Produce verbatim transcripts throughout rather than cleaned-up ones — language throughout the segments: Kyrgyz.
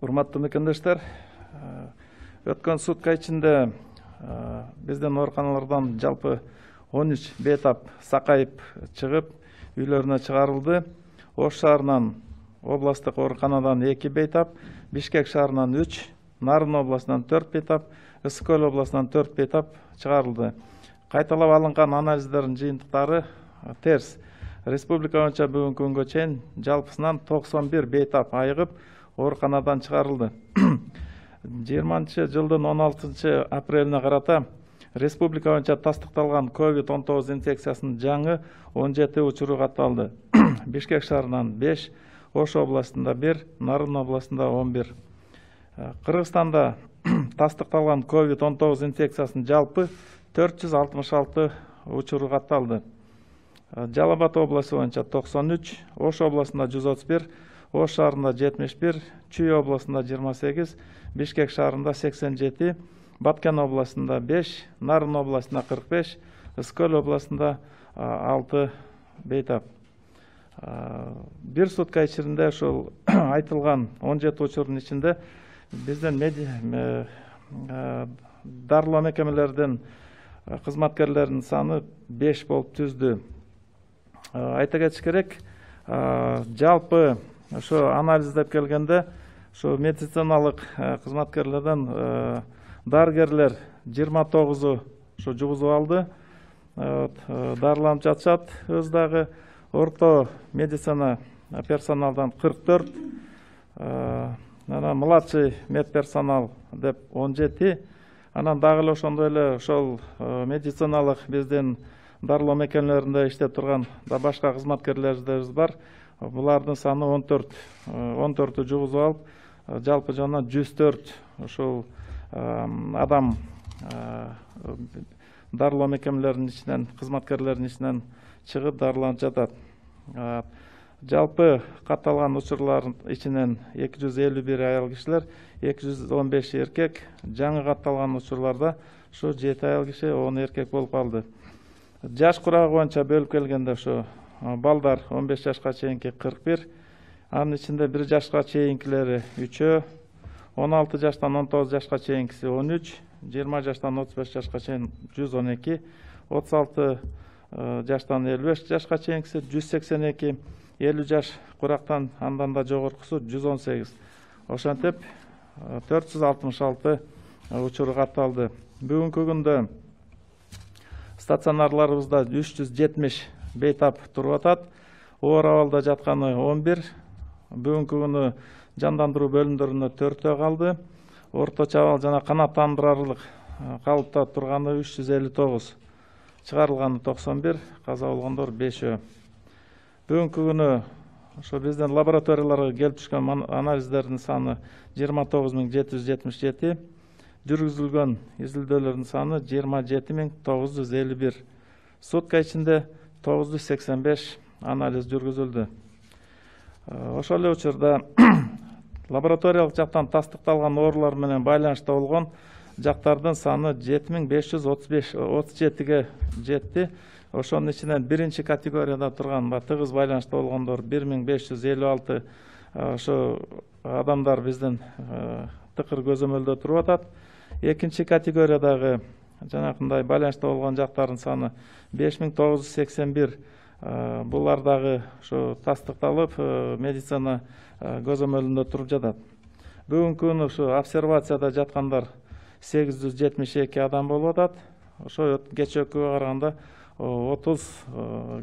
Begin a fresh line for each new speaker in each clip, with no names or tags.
Урматтуу мекендештер, өткөн сутка ичинде биздин ооруканалардан жалпы он үч бейтап сакайып чыгып, үйлөрүнө чыгарылды. Ош шаарынан областтык ооруканадан эки бейтап, Бишкек шаарынан үч, Нарын областынан төрт бейтап, Ысык Көл областынан төрт бейтап чыгарылды. Кайталап алынган анализдердин жыйынтыктары терс. Республика боюнча бүгүнкү күнгө чейин жалпысынан токсон бир бейтап айыгып ооруканадан чыгарылды. жыйырманчы жылдын он алтынчы апрелине карата республика боюнча тастыкталган ковид он тогуз инфекциясынын жаңы он жети учуру катталды. Бишкек шаарынан беш, Ош областында бир, Нарын областында он бир. Кыргызстанда тастыкталган ковид он тогуз инфекциясынын жалпы төрт жүз алтымыш алты учуру катталды. Жалал Абад областы боюнча токсон үч, Ош областында жүз отуз бир, Ош шаарында жетимиш бир, Чүй областында жыйырма сегиз, Бишкек шаарында сексен жети, Баткен областында беш, Нарын областында кырк беш, Ысык Көл областында алты бейтап. Бир сутка ичинде ошол айтылган он жети учурдун ичинде биздин дарылоо мекемелердин кызматкерлеринин саны беш болуп түздү. Айта кетиш керек, жалпы ошо анализдеп келгенде ошо медициналык кызматкерлерден дарыгерлер жыйырма тогузу ошо жугузуп алды, дарыланып жатышат. Өз дагы орто медицина персоналдан кырк төрт, анан младший медперсонал деп он жети, анан дагы эле ошондой эле ошол медициналык биздин дарылоо мекемелеринде иштеп турган да башка кызматкерлерибиз бар. Булардын саны он төрт, он төртү жугузуп алып, жалпы жана жүз төрт ушул адам дарылоо мекемелеринин ичинен, кызматкерлеринин ичинен чыгып дарыланып жатат. Жалпы катталган учурлардын ичинен эки жүз элүү бир аял кишилер, эки жүз он беш эркек, жаңы катталган учурларда ушу жети аял киши, он эркек болуп калды. Жаш курагы боюнча бөлүп келгенде ошо балдар он беш жашка чейинки кырк бир, анын ичинде бир жашка чейинкилери үчөө, он алты жаштан он тогуз жашка чейинкиси он үч, жыйырма жаштан отуз беш жашка чейин жүз он эки, отуз алты жаштан элүү беш жашка чейинкиси жүз сексен эки, элүү жаш курактан андан да жогоркусу жүз он сегиз. Ошентип төрт жүз алтымыш алты учуру катталды. Бүгүнкү күндө стационарларыбызда үч жүз жетимиш бейтап туруп атат. Оор абалда жатканы он бир. Бүгүнкү күнү жандандыруу бөлүмдөрүнө төртөө калды. Орточо абал жана канааттандырарлык калыпта турганы үч жүз элүү тогуз. Чыгарылганы токсон бир, каза болгондор бешөө. Бүгүнкү күнү ошо биздин лабораторияларга келип түшкөн анализдердин саны жыйырма тогуз миң жети жүз жетимиш жети, жүргүзүлгөн изилдөөлөрдүн саны жыйырма жети миң тогуз жүз элүү бир. Сутка ичинде тогуз жүз сексен беш анализ жүргүзүлдү. Ошол эле учурда лабораториялык жактан тастыкталган оорулар менен байланышта болгон жактардын саны жети миң беш жүз отуз беш отуз жетиге жетти. Ошонун ичинен биринчи категорияда турган тыгыз байланышта болгондор бир миң беш жүз элүү алты ошо адамдар биздин тыкыр көзөмөлдө туруп атат. Экинчи категориядагы жанакындай байланышта болгон жактардын саны беш миң тогуз жүз сексен бир. Булар дагы ошо тастыкталып, медицина көзөмөлүндө туруп жатат. Бүгүнкү күнү ошо обсервацияда жаткандар сегиз жүз жетимиш эки адам болуп атат. Ошо кечээкүгө караганда отуз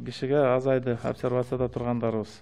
кишиге азайды обсервацияда тургандарыбыз.